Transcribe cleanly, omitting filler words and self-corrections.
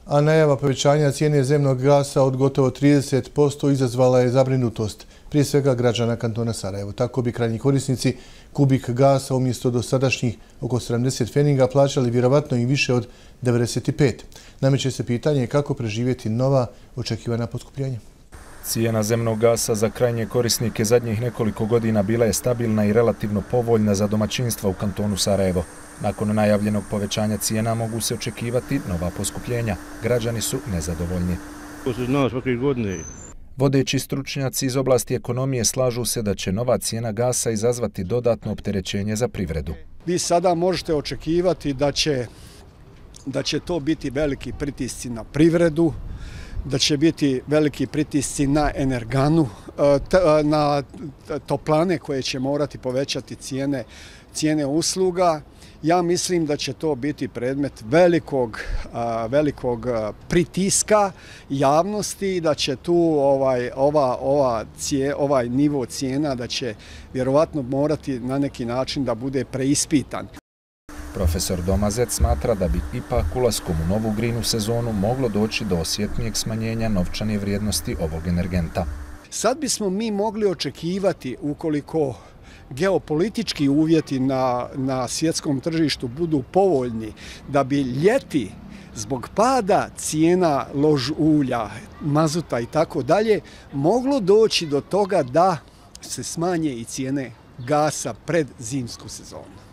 a najava povećanja cijene zemnog gasa od gotovo 30% izazvala je zabrinutost, prije svega građana kantona Sarajevo. Tako bi krajnji korisnici kubik gasa umjesto dosadašnjih oko 70 pfeninga plaćali vjerovatno i više od 95. Nameće se pitanje kako preživjeti nova očekivana poskupljenja. Cijena zemnog gasa za krajnje korisnike zadnjih nekoliko godina bila je stabilna i relativno povoljna za domaćinstva u kantonu Sarajevo. Nakon najavljenog povećanja cijena mogu se očekivati nova poskupljenja. Građani su nezadovoljni. To se zna svake godine. Vodeći stručnjaci iz oblasti ekonomije slažu se da će nova cijena gasa izazvati dodatno opterećenje za privredu. Vi sada možete očekivati da će to biti veliki pritisci na privredu, da će biti veliki pritisci na energanu, na toplane koje će morati povećati cijene usluga. Ja mislim da će to biti predmet velikog pritiska javnosti, da će tu ovaj nivo cijena da će vjerovatno morati na neki način da bude preispitan. Profesor Domazec smatra da bi ipak ulaskom u novu grinu sezonu moglo doći do osjetnijeg smanjenja novčane vrijednosti ovog energenta. Sad bismo mi mogli očekivati, ukoliko geopolitički uvjeti na svjetskom tržištu budu povoljni, da bi ljeti zbog pada cijena lož ulja, mazuta i tako dalje, moglo doći do toga da se smanje i cijene gasa pred zimsku sezonu.